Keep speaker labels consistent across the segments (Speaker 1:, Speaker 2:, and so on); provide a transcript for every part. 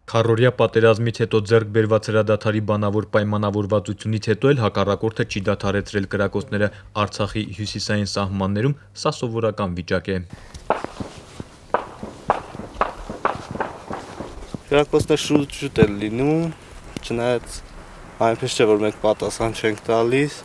Speaker 1: Քառօրյա պատերազմից հետո ձեռք բերված հրադադարի բանավոր պայմանավորվածությունից հետո էլ հակառակորդը չի դադարեցրել կրակոցները Արցախի հյուսիսային սահմաններում, սա սովորական վիճակ է։
Speaker 2: Կրակոցները շուտ է լինում, չնայած այնպես չէ, որ մենք պատասխան չենք տալիս,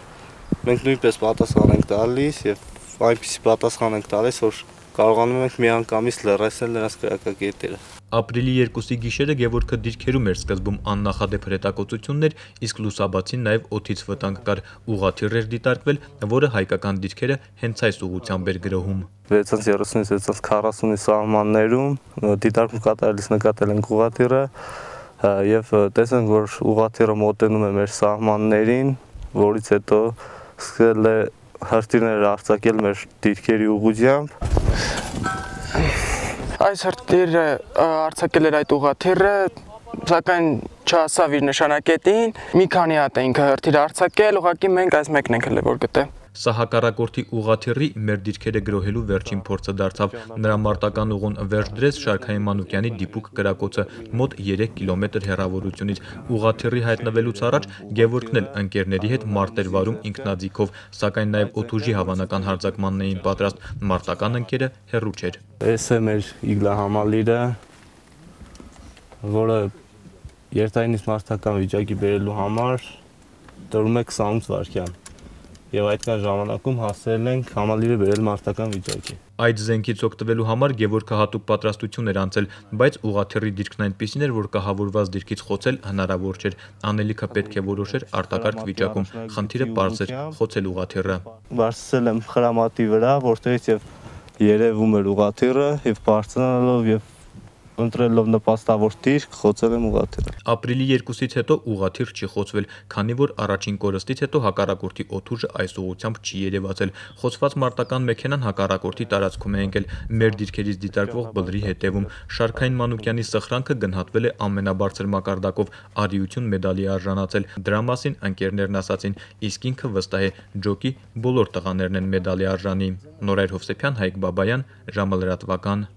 Speaker 2: մենք նույնպես պատասխան ենք տալիս եւ այնպիսի պատասխան ենք տալիս, որ կարողանում ենք միանգամից լրացնել նրանց կրակակետերը։
Speaker 1: Ապրիլի 2-ի գիշերը Գևորգը դիրքերում էր սկզբում աննախադեպ հրետակոծություններ, իսկ լուսաբացին նաև օդից վտանգ կար, ուղղաթիռ էր դիտարկվել, որը հայկական դիրքերը հենց այս ուղղությամբ էր գրոհում։
Speaker 2: 630-640-ի սահմաններում դիտարկում կատարելիս նկատել ենք ուղղաթիռը եւ տեսանք, որ ուղղաթիռը մոտենում է մեր սահմաններին, որից հետո սկսել է հրթիռներ արձակել մեր դիրքերի ուղղությամբ։
Speaker 3: Այս հրթիռը արձակել էր այդ ուղղաթիռը, սակայն չհասավ իր նշանակետին, մի քանի հատ էինք հրթիռ արձակել, ուղղակի մենք այս մեկն ենք հենց որ գտել։
Speaker 1: Սա հակառակորդի ուղղաթիռի մեր դիրքերը գրոհելու վերջին փորձը դարձավ։ Նրա մարտական ուղուն վերջ դրեց Շարքային Մանուկյանի դիպուկ կրակոցը մոտ 3 կիլոմետր հեռավորությունից։ Ուղղաթիռի հայտնվելուց առաջ Գևորգն էլ ընկերների հետ մարտ էր վարում ինքնաձիգով, սակայն նաև օդուժի հավանական հարձակմանն էին պատրաստ։ Մարտական ընկերը հեռու չէր։
Speaker 2: Այս է մեր իգլա համալիրը, որը երթայինից մարտական վիճակի բերելու համար տրվում է 28 վայրկյան։ Եվ այդքան ժամանակում հասել ենք համալիրը բերել մարտական վիճակի։
Speaker 1: Այդ զենքից օգտվելու համար Գևորգը հատուկ պատրաստություն էր անցել, բայց ուղղաթիռի դիրքն այնպիսին էր, որ կահավորված դիրքից խոցել հնարավոր չէր։ Անելիքը պետք է որոշեր արտակարգ վիճակում։ Խնդիրը պարզ էր՝ խոցել ուղղաթիռը։
Speaker 2: Բարձրացել եմ խրամատի վրա, որտեղից եւ երևում էր ուղղաթիռը եւ բարձրանալով եւ ընտրելով նպաստավոր դիրք խոցել եմ ուղղաթիռը։
Speaker 1: Ապրիլի 2-ից հետո ուղղաթիռ չի խոցվել, քանի որ առաջին կորստից հետո հակառակորդի օդուժը այս ուղղությամբ չի երևացել։ Խոցված մարտական մեքենան հակառակորդի տարածքում է ընկել մեր դիրքերից դիտարկվող բլրի հետևում։ Շարքային Մանուկյանի սխրանքը գնահատվել է ամենաբարձր մակարդակով, արիություն մեդալի արժանացել։ Դրա մասին ընկերներն ասացին, իսկ ինքը վստահ է, ջոկի բոլոր տղաներն են մեդալի արժանի։ Նորայր Հովսեփյան, Հայկ Բաբայան, ժամը լրատվական։